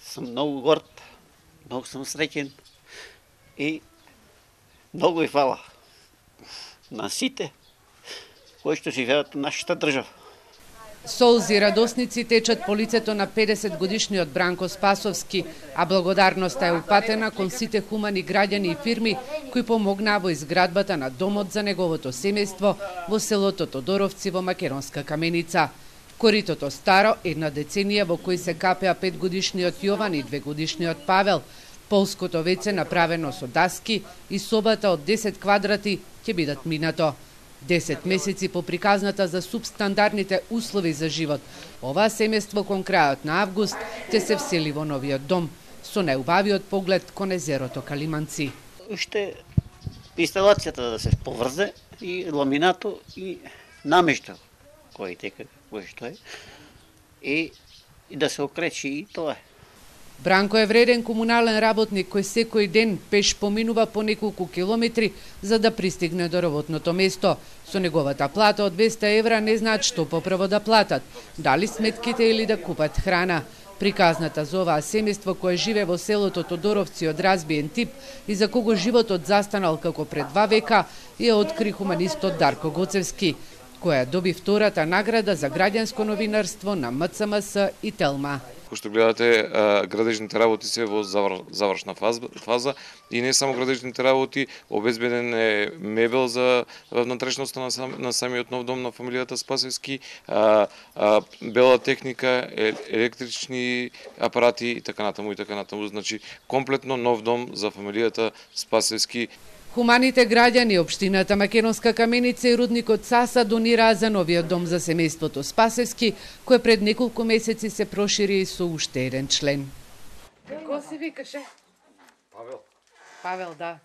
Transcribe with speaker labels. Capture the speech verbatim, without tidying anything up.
Speaker 1: Сум многу горд, многу сум среќен и многу и фала на сите кои што живеат во нашата држава.
Speaker 2: Солзи и радосници течат по лицето на педесет годишниот Бранко Спасовски, а благодарноста е упатена кон сите хумани граѓани и фирми кои помогнаа во изградбата на домот за неговото семејство во селото Тодоровци во Македонска Каменица. Коритото старо, една деценија во кој се капеа петгодишниот Јован и двегодишниот Павел, полското веќе направено со даски и собата од десет квадрати ќе бидат минато. десет месеци по приказната за субстандардните услови за живот, оваа семејство кон крајот на август ќе се всели во новиот дом, со најубавиот поглед кон езерото Калиманци.
Speaker 1: Уште инсталацијата да се поврзе и ламинато и намештал кој тека кој што е и, и да се окречи и тоа е.
Speaker 2: Бранко е вреден комунален работник кој секој ден пеш поминува по неколку километри за да пристигне до работното место. Со неговата плата од двесте евра не знаат што поправо да платат, дали сметките или да купат храна. Приказната за оваа семејство кое живе во селото Тодоровци од разбиен тип и за кого животот застанал како пред два века, ја откри хуманистот Дарко Гоцевски, која доби втората награда за граѓанско новинарство на М Ц М С и Телма.
Speaker 3: Кој што гледате, градежните работи се во завршна фаза и не само градежните работи, обезбеден е мебел за внатрешноста на, сам, на самиот нов дом на фамилијата Спасевски, а, а, бела техника, електрични апарати и така натаму и така натаму. Значи комплетно нов дом за фамилијата Спасевски.
Speaker 2: Хуманите граѓани, општината Македонска Каменица и рудникот Саса донираа за новиот дом за семејството Спасевски, кој пред неколку месеци се прошири со уште еден член. Кој се викаше?
Speaker 3: Павел.
Speaker 2: Павел, да.